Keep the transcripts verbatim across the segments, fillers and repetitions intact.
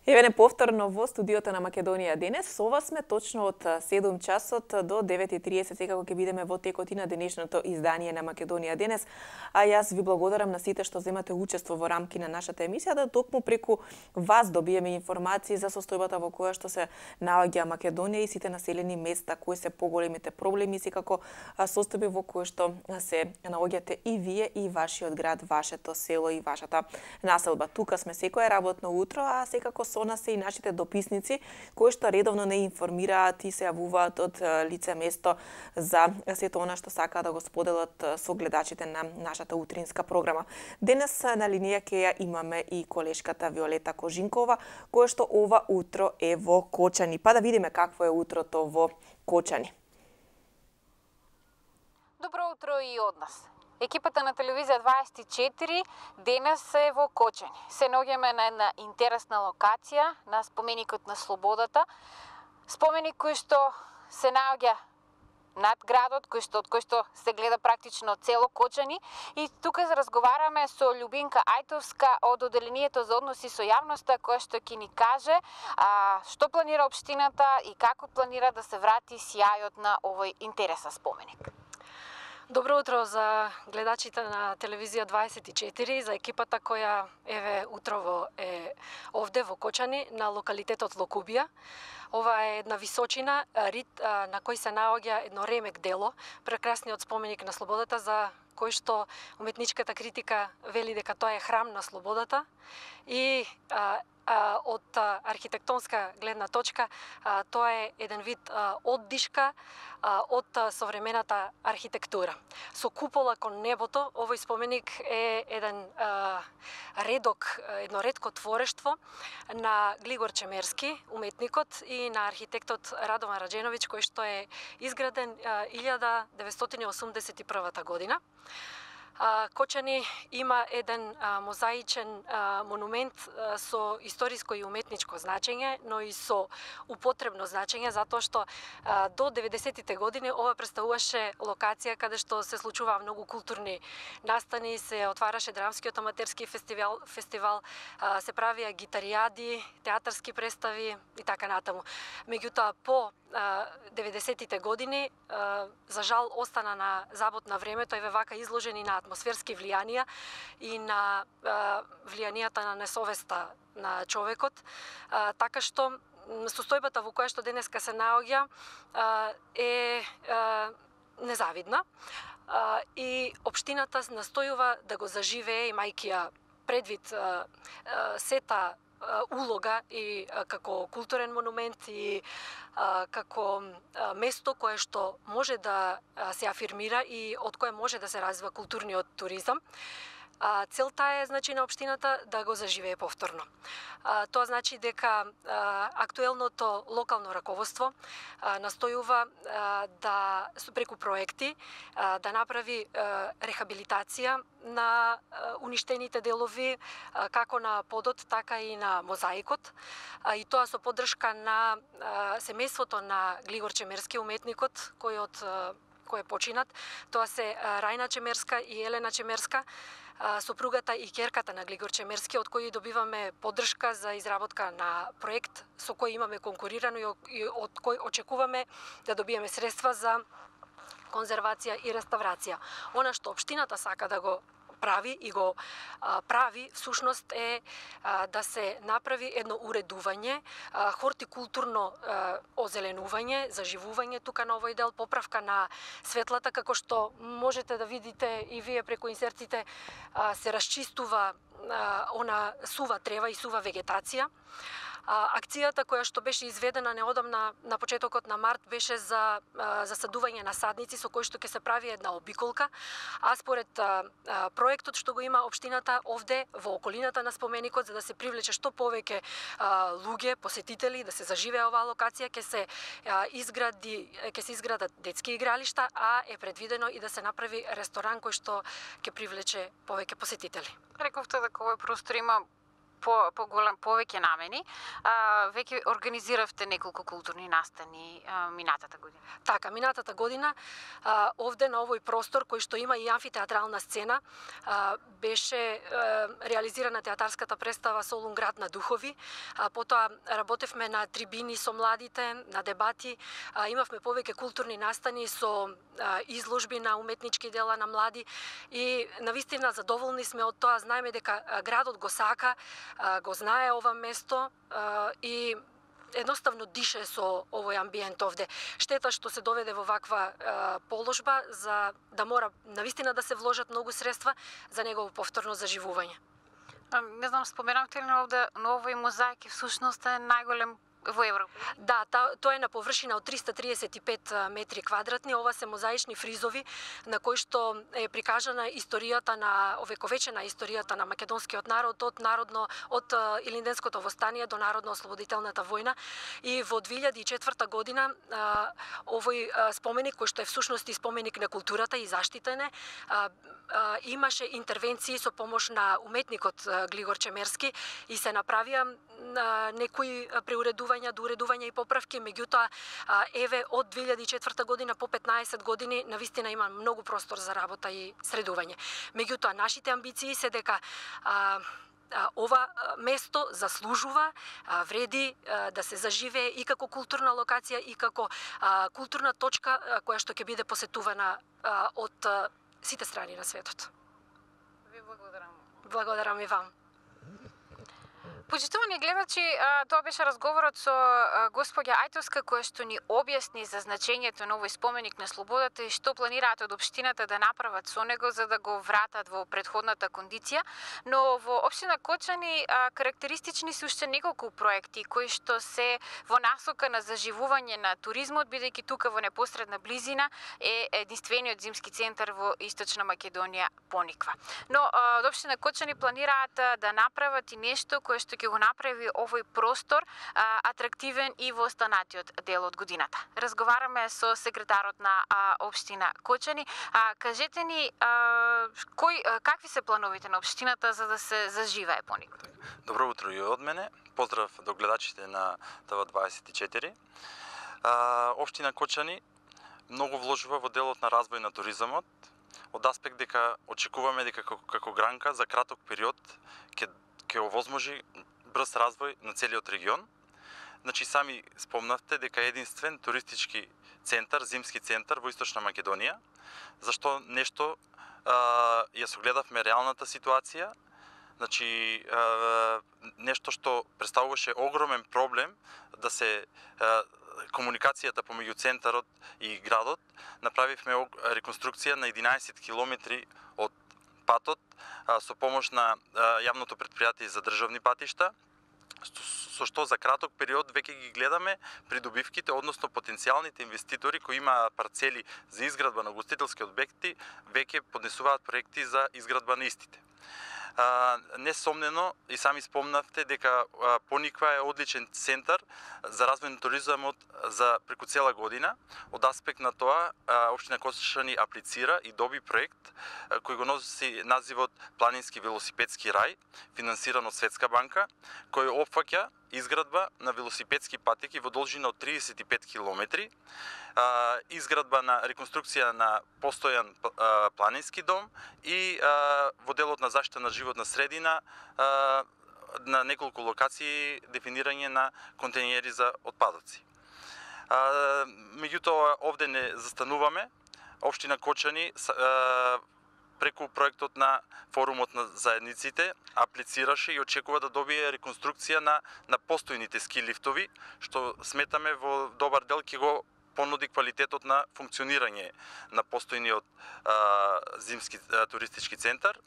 Еве не повторно во студиото на Македонија денес. Со вас сме точно од седум часот до девет и триесет, секако ќе бидеме во текот и на денешното издание на Македонија денес. А јас ви благодарам на сите што земате учество во рамки на нашата емисија, да токму преку вас добиеме информации за состојбата во која што се наоѓа Македонија и сите населени места, кои се поголемите проблеми, секако состојби во кои што се наоѓате и вие и вашиот град, вашето село и вашата населба. Тука сме секое работно утро, а секако со нас се и нашите дописници, кои што редовно не информираат и се јавуваат од лице место за сето она што сакаат да го споделат со гледачите на нашата утринска програма. Денес на линија ќе ја имаме и колешката Виолета Кожинкова, која што ова утро е во Кочани. Па да видиме какво е утрото во Кочани. Добро утро и од нас. Екипата на телевизија дваесет и четири денес е во Кочани. Се наоѓаме на една интересна локација, на споменикот на Слободата. Споменик кој што се наоѓа над градот, кој што, од кој што се гледа практично цело Кочани. И тука разговараме со Љубинка Ајтовска од Оделението за односи со јавноста, која што ќе ни каже а, што планира општината и како планира да се врати сјајот на овој интересен споменик. Добро утро за гледачите на телевизија дваесет и четири, за екипата која еве утрово е овде во Кочани на локалитетот Локубија. Ова е една височина, рит на кој се наоѓа едно ремек дело, прекрасниот споменик на слободата, за кој што уметничката критика вели дека тоа е храм на слободата и а, а, од а, архитектонска гледна точка а, тоа е еден вид а, оддишка а, од а, современата архитектура. Со купола кон небото, овој споменик е еден а, редок, едно ретко творештво на Глигор Чемерски, уметникот, и на архитектот Радован Раџеновиќ, кој што е изграден а, илјада деветстотини осумдесет и прва година. Кочани има еден а, мозаичен а, монумент а, со историско и уметничко значење, но и со употребно значење, затоа што а, до деветдесетите години ова представуваше локација каде што се случуваа многу културни настани, се отвараше драмскиот аматерски фестивал, фестивал а, се правија гитаријади, театарски представи и така натаму. Меѓутоа, по деветдесетите години, за жал, остана на забот на времето, еве вака изложени на атмосферски влијанија и на влијанијата на несовеста на човекот, така што состојбата во која што денеска се наоѓа е незавидна и општината настојува да го заживее, имајќи ја предвид сета улога и како културен монумент и а, како а, место кое што може да се афирмира и од кое може да се развива културниот туризам. А, целта е, значи, на општината да го заживее повторно. А, тоа значи дека а, актуелното локално раководство а, настојува а, да преку проекти а, да направи а, рехабилитација на а, уништените делови, а, како на подот, така и на мозаикот, а, и тоа со поддршка на а, семејството на Глигор Чемерски, уметникот кој од а, кој е починат. Тоа се а, Рајна Чемерска и Елена Чемерска, сопругата и ќерката на Глигор Чемерски, од кој добиваме поддршка за изработка на проект со кој имаме конкурирано и од кој очекуваме да добиеме средства за конзервација и реставрација. Она што општината сака да го прави и го а, прави, всушност е а, да се направи едно уредување, а, хортикултурно а, озеленување, заживување тука на овој дел, поправка на светлата, како што можете да видите и вие преку инсертите, а, се расчистува а, она сува трева и сува вегетација. А, акцијата која што беше изведена неодамна на почетокот на март беше за а, засадување на садници со кој што ќе се прави една обиколка, а според а, а, проектот што го има општината овде во околината на споменикот, за да се привлече што повеќе а, луѓе, посетители, да се заживее оваа локација, ќе се а, изгради ќе се изградат детски игралишта, а е предвидено и да се направи ресторан кој што ќе привлече повеќе посетители. Рековте дека овој простор има по поголем повеќе намени. А, веќе организиравте неколку културни настани а, минатата година. Така, минатата година а, овде на овој простор кој што има и амфитеатрална сцена а, беше а, реализирана театарската представа Солун град на духови. А, потоа работевме на трибини со младите, на дебати, а, имавме повеќе културни настани со а, изложби на уметнички дела на млади и навистина задоволни сме од тоа. Знаеме дека а, градот го сака, а, го знае ова место а, и едноставно дише со овој амбиент овде. Штета што се доведе во ваква а, положба за да мора навистина да се вложат многу средства за негово повторно заживување. А, не знам, споменавте ли овде, но овој мозаик е всушност е најголем во Европа? Да, та, тоа е на површина од триста триесет и пет метри квадратни. Ова се мозаични фризови на кои што е прикажана историјата на овековечена историјата на македонскиот народ од народно од Илинденското востание до народно-ослободителната војна. И во две илјади и четврта година а, овој споменик кој што е всушност и споменик на културата и заштитен е, а, а, имаше интервенции со помош на уметникот Глигор Чемерски и се направија а, некои преуредувања, доуредувања и поправки, меѓутоа еве од две илјади и четврта година по петнаесет години навистина има многу простор за работа и средување. Меѓутоа нашите амбиции се дека а, ова место заслужува, вреди да се заживее и како културна локација и како културна точка која што ќе биде посетувана од сите страни на светот. Ви благодарам. Благодарам и вам. Почитувани гледачи, тоа беше разговорот со господја Ајтовска која што ни објасни за значењето на овој споменик на слободата и што планираат од општината да направат со него за да го вратат во претходната кондиција. Но во општина Кочани карактеристични се уште неколку проекти кои што се во насока на заживување на туризмот, бидејќи тука во непосредна близина е единствениот зимски центар во Источна Македонија пониква. Но од општина Кочани планираат да направат и нешто кое што ќе го направи овој простор а, атрактивен и во останатиот дел од годината. Разговараме со секретарот на а, општина Кочани. А, кажете ни а, кој а, какви се плановите на општината за да се заживее пониква? Добро утро и од мене. Поздрав до гледачите на Т В дваесет и четири. А, општина Кочани многу вложува во делот на развој на туризмот, од аспект дека очекуваме дека како, како гранка за краток период ќе ќе овозможи брз развој на целиот регион. Значи, сами спомнавте дека е единствен туристички центар, зимски центар во Источна Македонија, зашто нешто а, ја согледавме реалната ситуација, значи а, нешто што представуваше огромен проблем да се а, комуникацијата помеѓу центарот и градот. Направивме реконструкција на единаесет километри од патот со помош на јавното претпријатие за државни патишта, со што за краток период веќе ги гледаме придобивките, односно потенцијалните инвеститори кои имаат парцели за изградба на угостителски објекти, веќе поднесуваат проекти за изградба на истите. Несомнено, и сами спомнавте дека Пониква е одличен центар за развој на туризмот за преку цела година. Од аспект на тоа, општина Кочани аплицира и доби проект кој го носи називот Планински велосипедски рај, финансиран од Светска банка, кој опфаќа изградба на велосипедски патеки во должина од триесет и пет километри, изградба на реконструкција на постојан планински дом и во делот на заштита на животна средина на неколку локации дефинирање на контејнери за отпадоци. Меѓутоа, овде не застануваме. Општина Кочани преку проектот на форумот на заедниците аплицираше и очекува да добие реконструкција на на постојните ски лифтови, што сметаме во добар дел ќе го понуди квалитетот на функционирање на постојниот а, зимски а, туристички центар.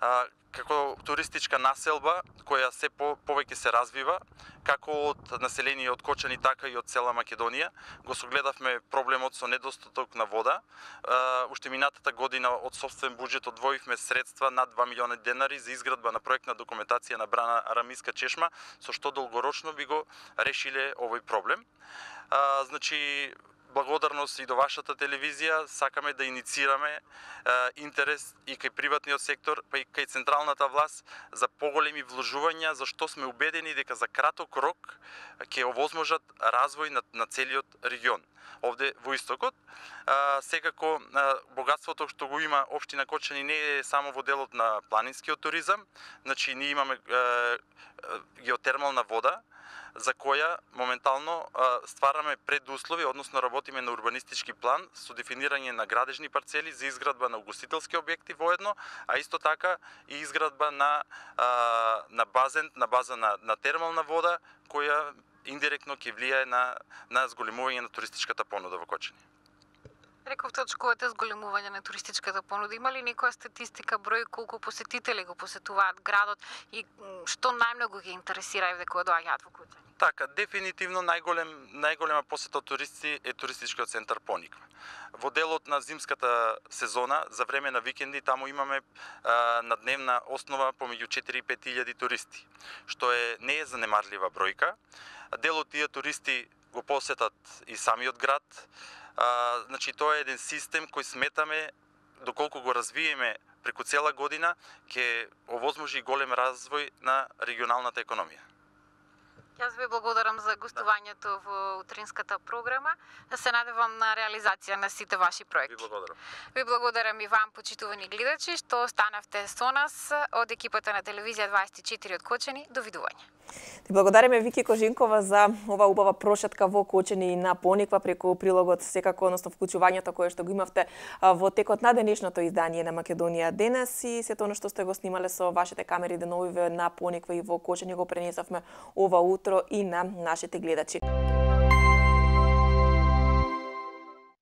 А, како туристичка населба која се по, повеќе се развива, како од население од Кочани, така и од цела Македонија, го согледавме проблемот со недостаток на вода. А, уште минатата година од собствен буџет одвоивме средства над два милиона денари за изградба на проектна документација на брана Арамиска чешма, со што долгорочно би го решиле овој проблем. А, значи, благодарност и до вашата телевизија, сакаме да иницираме е, интерес и кај приватниот сектор, па и кај централната власт за поголеми вложувања, зашто сме убедени дека за краток рок ќе овозможат развој на, на целиот регион. Овде во истокот, а, секако а, богатството што го има општина Кочани не е само во делот на планинскиот туризам, значи ние имаме а, а, геотермална вода, за која моментално а, ствараме предуслови, односно работиме на урбанистички план со дефинирање на градежни парцели за изградба на угостителски објекти воедно, а исто така и изградба на а, на базен, на база на, на термална вода, која индиректно ќе влијае на на зголемување на туристичката понуда во Кочани. Рековте очкувате зголемување на туристичката понуда. Има ли некоја статистика, број колку посетители го посетуваат градот и што најмногу ги интересира еве кога доаѓаат во Кочани? Така, дефинитивно најголем најголема посета од туристи е туристичкиот центар Пониква. Во делот на зимската сезона, за време на викенди, таму имаме а, на дневна основа помеѓу четири и пет илјади туристи, што е не е занемарлива бројка. Дел од тие туристи го посетат и самиот град. А, значи тоа е еден систем кој сметаме доколку го развиеме преку цела година ќе овозможи голем развој на регионалната економија. Јас ви благодарам за гостувањето во утринската програма. Да се надевам на реализација на сите ваши проекти. Ви благодарам. Ви благодарам и вам, почитувани гледачи, што останавте со нас од екипата на телевизија дваесет и четири од Кочани. Довидување. Ти благодариме Вики Кожинкова за ова убава прошетка во Кочани и на Пониква преку прилогот, секако, односно вклучувањето кое што го имавте во текот на денешното издание на Македонија денес и сето оно што сте го снимале со вашите камери деновиве на Пониква и во Кочани го пренесовме ова утро и на нашите гледачи.